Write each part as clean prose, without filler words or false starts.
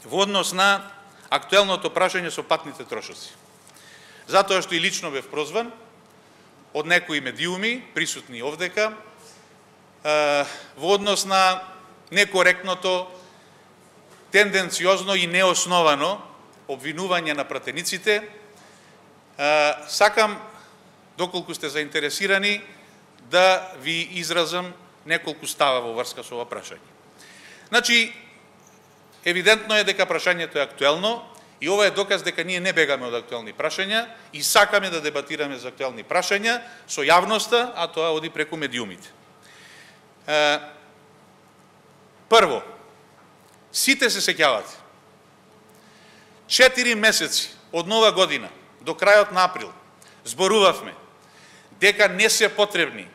во однос на актуелното прашање со патните трошоци. Затоа што и лично бев прозван од некои медиуми, присутни овдека, во однос на некоректното, тенденциозно и неосновано обвинување на пратениците. Сакам, доколку сте заинтересирани, да ви изразам неколку става во врска со ова прашање. Значи, евидентно е дека прашањето е актуелно и ова е доказ дека ние не бегаме од актуелни прашања и сакаме да дебатираме за актуелни прашања со јавноста, а тоа оди преку медиумите. Прво, сите се сеќавате. 4 месеци од нова година до крајот на април зборувавме дека не се потребни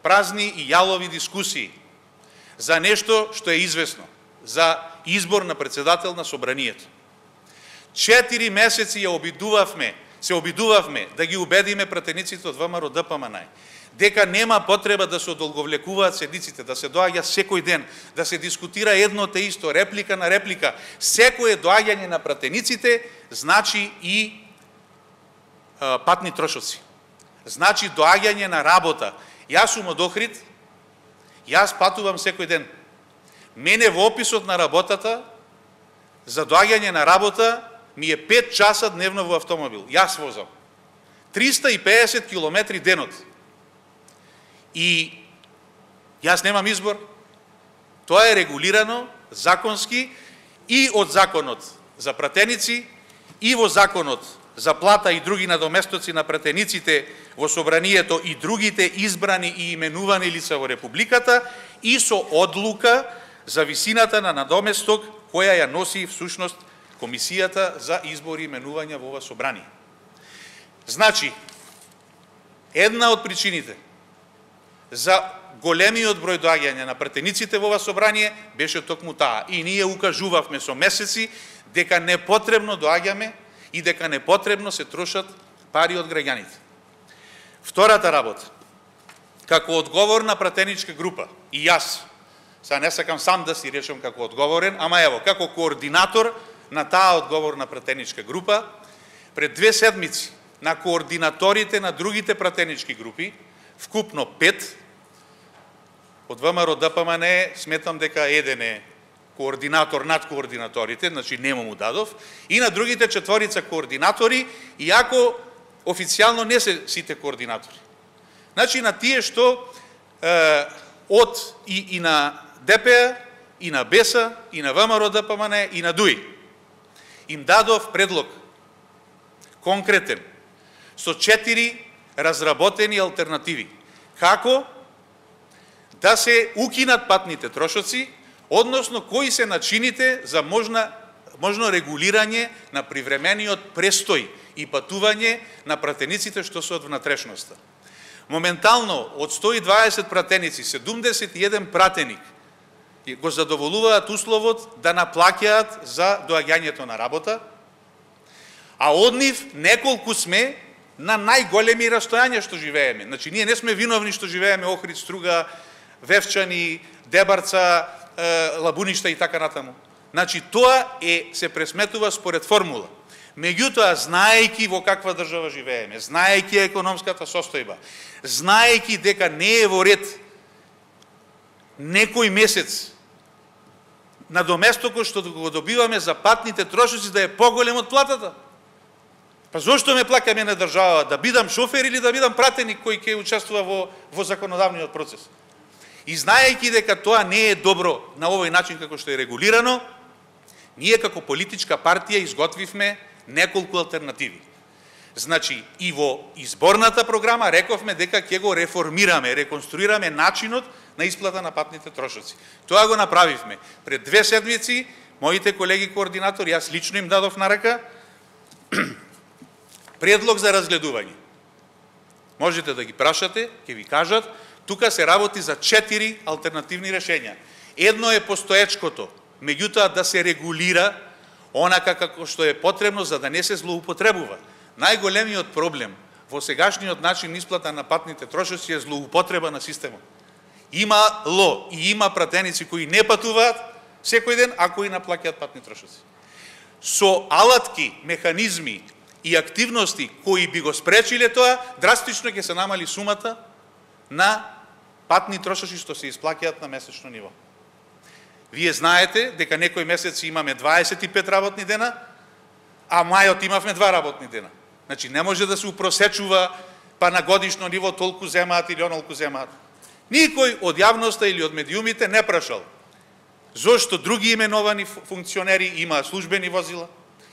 празни и јалови дискусии за нешто што е известно, за избор на председател на собранието. 4 месеци се обидувавме да ги убедиме пратениците од ВМРО ДПМН дека нема потреба да се одолговлекуваат седниците, да се доаѓа секој ден, да се дискутира едно те исто, реплика на реплика. Секое доаѓање на пратениците значи и патни трошоци. Значи доаѓање на работа. Јас сум од Охрид, јас патувам секој ден. Мене во описот на работата, за доаѓање на работа, ми е 5 часа дневно во автомобил. Јас возам. 350 километри денот. И јас немам избор. Тоа е регулирано законски и од законот за пратеници, и во законот за плата и други надоместоци на пратениците во собранието и другите избрани и именувани лица во Републиката, и со одлука за висината на надоместок која ја носи всушност Комисијата за избори и именувања во ова собрание. Значи, една од причините за големиот број доаѓања на пратениците во ова собрание беше токму таа. И ние укажувавме со месеци дека не потребно доаѓаме и дека не потребно се трошат пари од граѓаните. Втората работа, како одговорна пратеничка група, и јас, сега не сакам сам да си речем како одговорен, ама ево, како координатор на таа одговорна пратеничка група, пред 2 седмици на координаторите на другите пратенички групи, вкупно 5, од ВМРО ДПМН сметам дека еден е координатор над координаторите, значи нема му дадов, и на другите 4 координатори, иако официјално не се сите координатори. Значи на тие што од и на ДП, и на БЕСА, и на ВМРО ДПМН, и на ДУИ, им дадов предлог, конкретен, со 4 разработени алтернативи. Како да се укинат патните трошоци, односно кои се начините за можно регулирање на привремениот престој и патување на пратениците што се од внатрешноста. Моментално од 120 пратеници, 71 пратеник го задоволуваат условот да наплаќаат за доаѓањето на работа, а од нив неколку сме на најголеми растојања што живееме. Значи, ние не сме виновни што живееме Охрид, Струга, Вевчани, Дебарца, Лабуништа и така натаму. Значи, тоа се пресметува според формула. Меѓутоа, знаејќи во каква држава живееме, знаејќи економската состојба, знаејќи дека не е во ред некој месец надоместокот што го добиваме за патните трошоци да е поголем од платата. Па зошто ме плаќа мене држава? Да бидам шофер или да бидам пратеник кој ќе учествува во законодавниот процес? И знаејќи дека тоа не е добро на овој начин како што е регулирано, ние како политичка партија изготвивме неколку алтернативи. Значи, и во изборната програма рековме дека ќе го реформираме, реконструираме начинот на исплата на патните трошоци. Тоа го направивме. Пред 2 седмици, моите колеги координатори, јас лично им дадов на рака, предлог за разгледување. Можете да ги прашате, ќе ви кажат, тука се работи за 4 алтернативни решења. Едно е постоечкото, меѓутоа да се регулира онака како што е потребно за да не се злоупотребува. Најголемиот проблем во сегашниот начин исплата на патните трошоци е злоупотреба на системот. Имало и има пратеници кои не патуваат секој ден, ако и наплаќаат патни трошоци. Со алатки, механизми и активности кои би го спречиле тоа, драстично ќе се намали сумата на патни трошоци што се исплаќаат на месечно ниво. Вие знаете дека некои месеци имаме 25 работни дена, а мајот имавме 2 работни дена. Значи не може да се упросечува па на годишно ниво толку земаат или онолку земаат. Никој од јавноста или од медиумите не прашал зошто други именовани функционери имаат службени возила,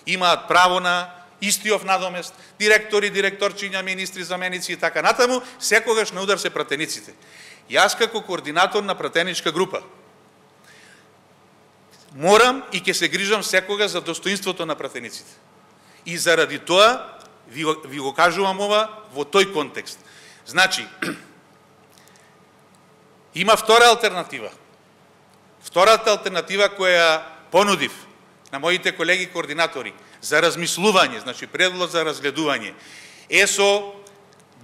имаат право на истиов надомест, директори, директорчиња, министри, заменици и така натаму, секогаш на удар се пратениците. Јас како координатор на пратеничка група морам и ќе се грижам секогаш за достоинството на пратениците. И заради тоа ви го кажувам ова во тој контекст. Значи, има втора алтернатива. Втората алтернатива која понудив на моите колеги координатори за размислување, значи предлог за разгледување, е со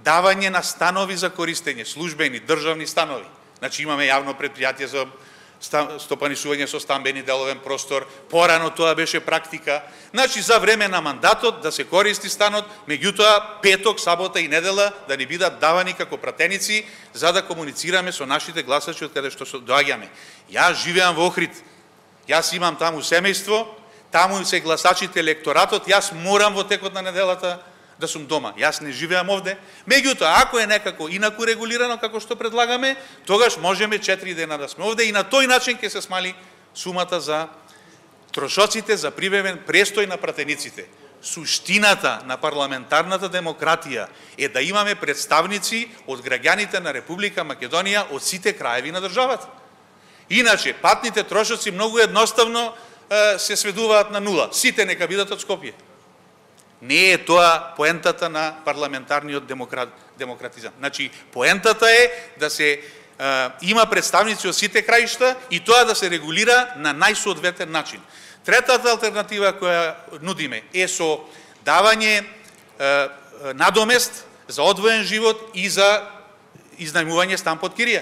давање на станови за користење, службени, државни станови. Значи имаме јавно предпријатие за стопанисување со стамбени деловен простор, порано тоа беше практика. Значи за време на мандатот да се користи станот, меѓутоа петок, сабота и недела да ни бидат давани како пратеници за да комуницираме со нашите гласачи од каде што доаѓаме. Јас живеам во Охрид. Јас имам таму семејство, таму се гласачите, електоратот, јас морам во текот на неделата да сум дома. Јас не живеам овде. Меѓутоа, ако е некако инаку регулирано како што предлагаме, тогаш можеме 4 дена да сме овде и на тој начин ќе се смали сумата за трошоците за привремен престој на пратениците. Суштината на парламентарната демократија е да имаме представници од граѓаните на Република Македонија од сите краеви на државата. Иначе, патните трошоци многу едноставно се сведуваат на нула. Сите нека бидат од Скопје. Не е тоа поентата на парламентарниот демократизам. Значи, поентата е да се има представници од сите краишта и тоа да се регулира на најсоодветен начин. Третата алтернатива која нудиме е со давање надомест за одвоен живот и за изнајмување стан под кирија.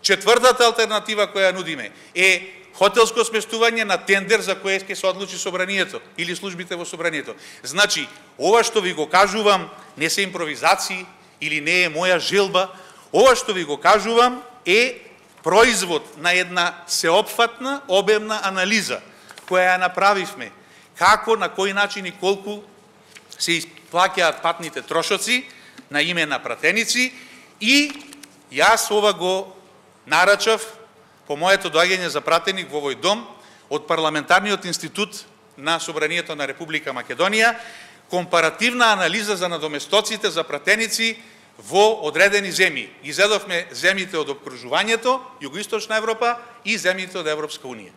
Четвртата алтернатива која нудиме е хотелско сместување на тендер за кое ќе се одлучи собранието или службите во собранието. Значи, ова што ви го кажувам не се импровизации или не е моја желба, ова што ви го кажувам е производ на една сеопфатна, обемна анализа која ја направивме како, на кој начин и колку се исплаќаат патните трошоци на име на пратеници и јас ова го нарачав по моето доаѓање за пратеник во овој дом од Парламентарниот институт на Собранието на Република Македонија, компаративна анализа за надоместоците за пратеници во одредени земји. Изедовме земјите од обкружувањето, Југоисточна Европа и земјите од Европска Унија.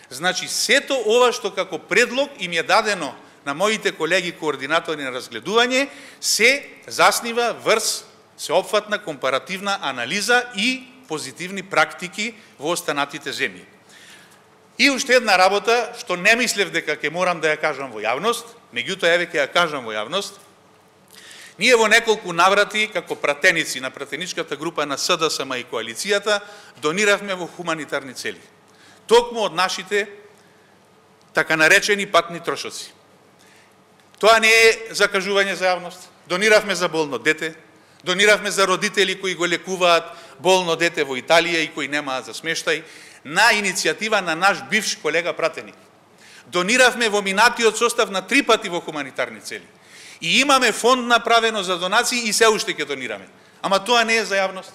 Значи, сето ова што како предлог им е дадено на моите колеги координатори на разгледување, се заснива врз сеопфатна компаративна анализа и позитивни практики во останатите земји. И уште една работа, што не мислев дека ќе морам да ја кажам во јавност, меѓутоа еве ќе ја кажам во јавност. Ние во неколку наврати, како пратеници на пратеничката група на СДСМ и коалицијата, дониравме во хуманитарни цели. Токму од нашите така наречени патни трошоци. Тоа не е закажување за јавност. Дониравме за болно дете, дониравме за родители кои го лекуваат болно дете во Италија и кои немаат за смештај, на иницијатива на наш бивш колега пратеник. Дониравме во минатиот состав на 3 пати во хуманитарни цели. И имаме фонд направено за донации и се уште ќе донираме. Ама тоа не е за јавност.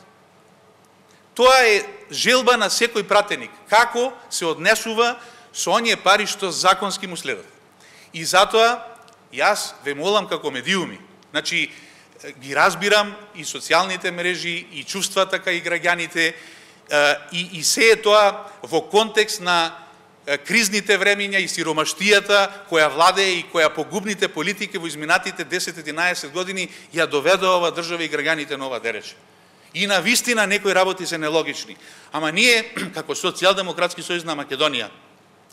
Тоа е желба на секој пратеник. Како се однесува со оние пари што законски му следат. И затоа јас ве молам како медиуми. Значи, ги разбирам и социјалните мрежи, и чувствата кај граѓаните, и се е тоа во контекст на кризните времиња и сиромаштијата која владее и која погубните политики во изминатите 10-11 години ја доведува ова држава и граѓаните на ова дереч. И на вистина некои работи се нелогични. Ама ние, како Социјалдемократски сојуз на Македонија,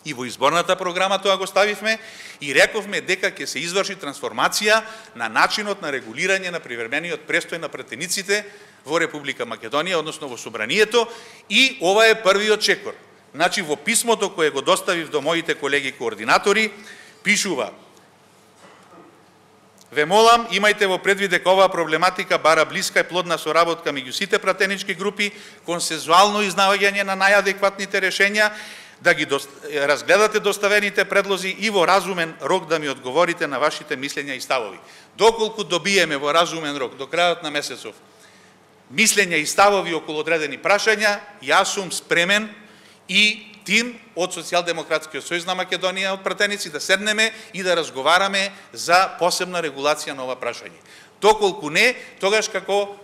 и во изборната програма тоа го ставивме и рековме дека ќе се изврши трансформација на начинот на регулирање на привремениот престој на пратениците во Република Македонија, односно во Собранието, и ова е првиот чекор. Значи, во писмото кое го доставив до моите колеги координатори, пишува: ве молам, имајте во предвид дека оваа проблематика бара блиска и плодна соработка меѓу сите пратенички групи, консензуално изнаоѓање на најадекватните решенја, да ги разгледате доставените предлози и во разумен рок да ми одговорите на вашите мислења и ставови. Доколку добиеме во разумен рок, до крајот на месецов, мислења и ставови околу одредени прашања, јас сум спремен и тим од Социјалдемократскиот сојуз на Македонија од пратеници да седнеме и да разговараме за посебна регулација на ова прашање. Доколку не, тогаш како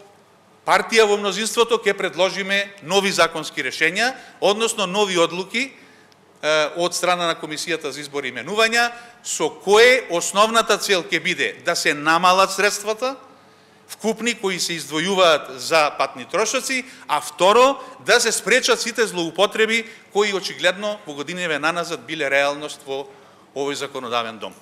партија во мнозинството ќе предложиме нови законски решења, односно нови одлуки од страна на Комисијата за избор и именувања, со кое основната цел ќе биде да се намалат средствата вкупни кои се издвојуваат за патни трошоци, а второ, да се спречат сите злоупотреби кои очигледно во годиниве наназад биле реалност во овој законодавен дом.